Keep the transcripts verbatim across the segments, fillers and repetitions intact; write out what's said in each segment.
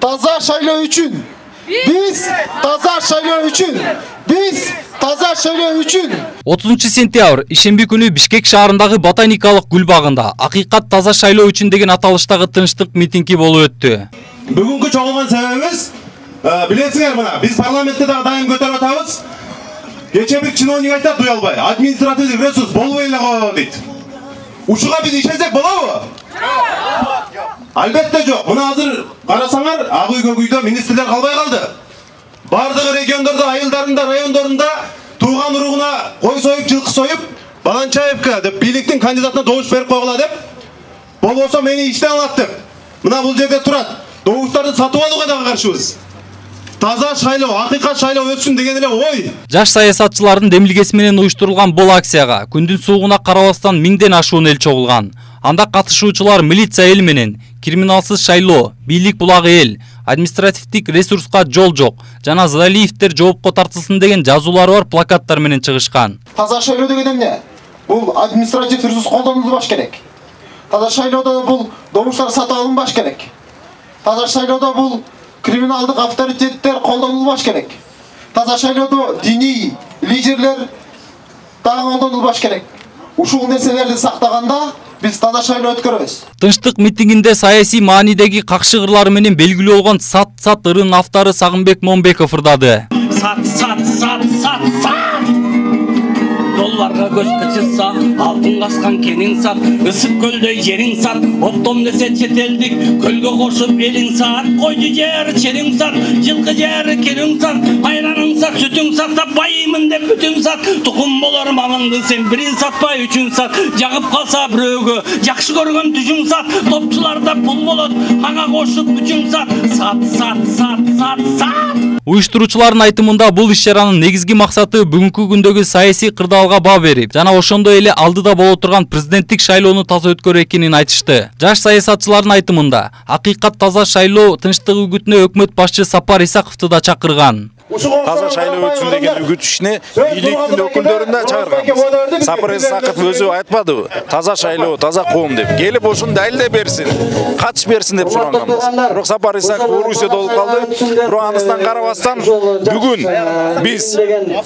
таза шайлоо үчүн. Биз таза шайлоо үчүн. Биз таза шайлоо үчүн. отузунчу сентябрь ишемби күнү Бишкек шаарындагы ботаникалык гүл багында акыйкат таза шайлоо үчүн деген аталыштагы тынчтык митинги болуп өттү. Бүгүнкү чогулган себебибиз билесиңер мына биз парламентте дагы дайым көтөрүп атабыз. Кече бир чиновник айтат уялбай, административдик ресурс болбой эле коет дейт. Ушуга биз ишенсек болобу? Албетте жок. Мына азыр карасаңар, ак үй көк үйдө министрлер калбай калды. Бардыгы региондордо, айылдарында, райондорунда тууган уругуна кой союп, жылкы союп, Баланчаевка деп бийликтин кандидатына добуш берип койгула деп, болбосо мени иштен алат деп. Мына бул жерде турат. Добуштарды сатып алууга дагы каршыбыз. Таза шайлоо, акыйкат шайлоо өтсүн деген эле ой. Жаш саясатчылардын демилгеси менен уюштурулган бул акцияга күндүн суугуна карабастан миңден ашуун эл чогулган. Анда катышуучулар милиция эл менен криминалсыз шайлоо, бийлик булагы эл, административдик ресурска жол жок жана Залиевдер жоопко тартылсын деген жазуулары бар плакаттар менен чыгышкан. Таза шайлоо деген эмне? Бул административ ресурс колдонулбаш керек. Таза шайлоодо бул добуштар сатып алынбаш керек. Таза шайлоодо бул криминалдык авторитеттер колдонулбаш керек. Таза шайлоодо диний лидерлер дагы колдонулбаш керек. Ушул нерселерди сактаганда биз таза шайлоо өткөрөбүз. Тынчтык митингинде саясий маанидеги какшыгырлары менен белгилүү болгон сат-сат ырын автары Сагынбек Момбеков ырдады. Сат сат сат сат сат долларга көз кычырса, алтын каскан кенин сат, ысык көлдөй жериң сат, оптом десе четелдик, көлгө кошуп элиң сат, койду жер чериң сат, жылкы жер келиң сат, айраның сат, сүтүң сатса байымын деп бүтүн сат, тукум болор мамыңды сен бирин сатпай үчүн сат, жагып калса бирөөгө, жакшы көргөн түшүң сат, топчуларда пул болот, мага кошуп үчүн сат, сат сат сат сат сат. Уюштуруучулардын айтымында бул иш-чаранын негизги максаты бүгүнкү күндөгү саясий кырдаалга баа берип, жана ошондой эле алдыда боло турган президенттик шайлоону таза өткөрүү экенин айтышты. Жаш саясатчылардын айтымында акыйкат таза шайлоо тынчтык үгүтүнө өкмөт башчы Сапар Исаковду да чакырган. Таза шайлоо өтсүн деген үгүт ишине бийликтин өкүлдөрүн да чакырганбыз. Сапар Исаков өзү айтпадыбы? Таза шайлоо, таза коом деп. Келип ошону далилдеп берсин, катыш берсин деп суранганбыз. Бирок Сапар Исаков Орусияда болуп калды. Бирок анысынан карабастан бүгүн биз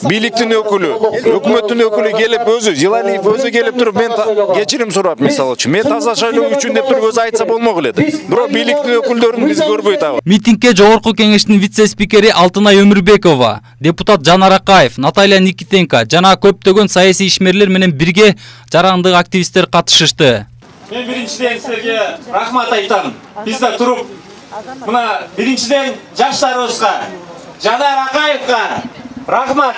бийликтин өкүлү, өкмөттүн өкүлү келип өзү, Жылалиев өзү келип туруп мен кечирим сурап мисалы үчүн, мен таза шайлоо үчүн деп туруп өзү айтса болмок эле. Бирок бийликтин өкүлдөрүн биз көрбөй атабыз. Митингге жогорку кеңештин вице-спикери Алтынай Өмүрбекова, депутат Жанар Акаев, Наталья Никитенко жана көптөгөн саясий ишмерлер менен бирге жарандык активисттер катышышты. Мен биринчиден силерге рахмат айтам. Бизде туруп мына биринчиден жаштарыбызга, Жанар Акаевга рахмат.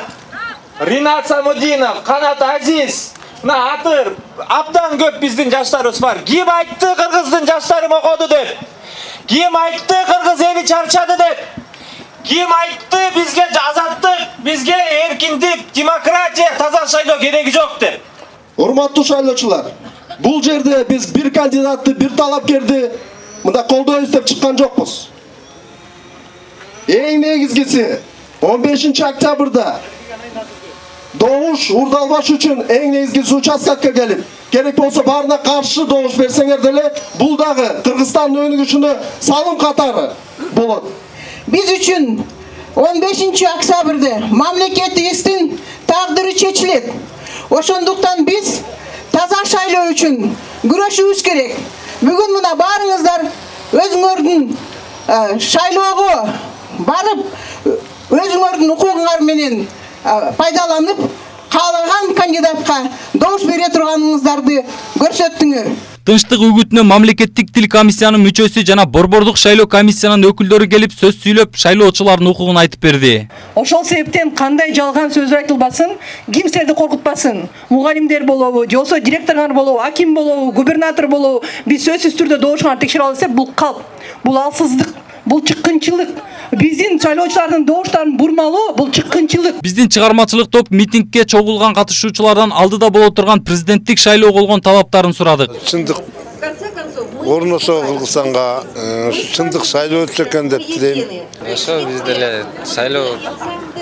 Ринат Самудинов, Канат Азиз, мына аты абдан көп биздин жаштарыбыз бар. Ким айтты кыргыздын жаштары мокоду деп? Ким айтты кыргыз эли чарчады деп? Ким айтты бизге азаттык, бизге эркиндик, демократия, таза шайлоо кереги жок деп? Урматтуу шайлоочулар, бул жерде биз бир кандидатты, бир талапкерди мында колдойбуз деп чыккан жокпуз. Эң негизгиси он бешинчи октябрда добуш урдалбаш үчүн эң негизгиси участкага келип, керек болсо баарына каршы добуш берсеңер деле, бул дагы Кыргызстандын өнүгүшүнө салым катары болот. Биз үчүн он бешинчи октябрда мамлекетибиздин тагдыры чечилет. Ошондуктан биз таза шайлоо үчүн күрөшүбүз керек. Бүгүн мына баарыңыздар өзүңөрдүн шайлоого барып, өзүңөрдүн укугуңар менен пайдаланып, каалаган кандидатка добуш бере турганыңыздарды көрсөттүңөр. Тынчтык үгүтүнө мамлекеттик тил комиссиянын мүчөсү жана борбордук шайлоо комиссиянын өкүлдөрү келип сөз сүйлөп, шайлоочулардын укугун айтып берди. Ошол себептен кандай жалган сөз айтылбасын, ким силерди коркутпасын. Мугалимдер болобу, же болбосо директорлор болобу, аким болобу, губернатор болобу, биз сөзсүз түрдө добушуңарды текшере алабыз деп, бул калп, бул алсыздык, бул чыккынчылык. Биздин шайлоочулардын добуштарын бурмалоо бул чыккынчылык. Биздин чыгармачылык топ митингге чогулган катышуучулардан алдыда боло турган президенттик шайлоо болгон талаптарын сурадык. Чындык орносо Кыргызстанга чындык шайлоо өтсө экен деп тилейм. Ошо биз деле шайлоо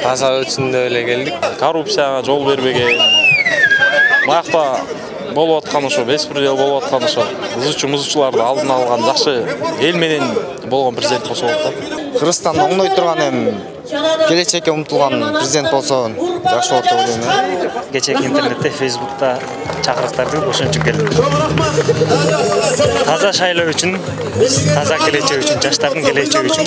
таза өтсүн деп эле келдик. Коррупцияга жол бербеген. Мыякта болуп аткан ошо беспредел болуп аткан ошо ызычу музычуларды алдын алган жакшы эл менен болгон президент болсо болот да. Кыргызстанды оңдой турган эми келечекке умтулган президент болсо жакшы болот деп ойлойм. Кечээки интернетте, Facebook'та чакырыктарды ошон үчүн келдим. Таза шайлоо үчүн, таза келечек үчүн, жаштардын келечеги үчүн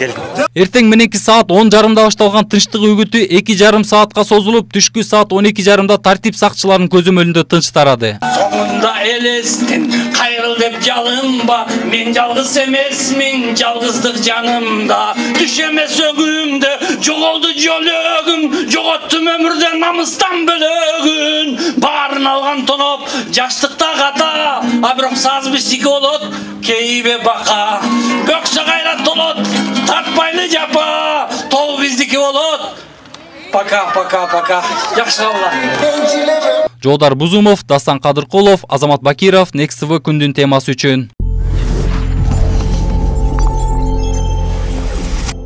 келдим. Эртең мененки саат он жарымда башталган тынчтык үгүтү эки жарым саатка созулуп, түшкү саат он эки жарымда тартип сакчыларынын көзөмөлүндө тынч тарады. Соңунда элестин, кайрыл деп жалынба, мен жалгыз эмесмин, жалгыздык жанымда. Түш эмес өгүмдө, жоголду жөлөгүм, жоготтум өмүрдөн намыстан бөлөгүн. Баарын алган тоноп, жаштыкта ката, а бирок саз биздики болот, кейбе бака. Бөксө кайрат болот, тартпайлы жапа, тол биздики болот. Пока, пока, пока. Жакшы калыңдар. Жолдар Бузумов, Дастан Кадыркулов, Азамат Бакиров, Next T V күндүн темасы үчүн.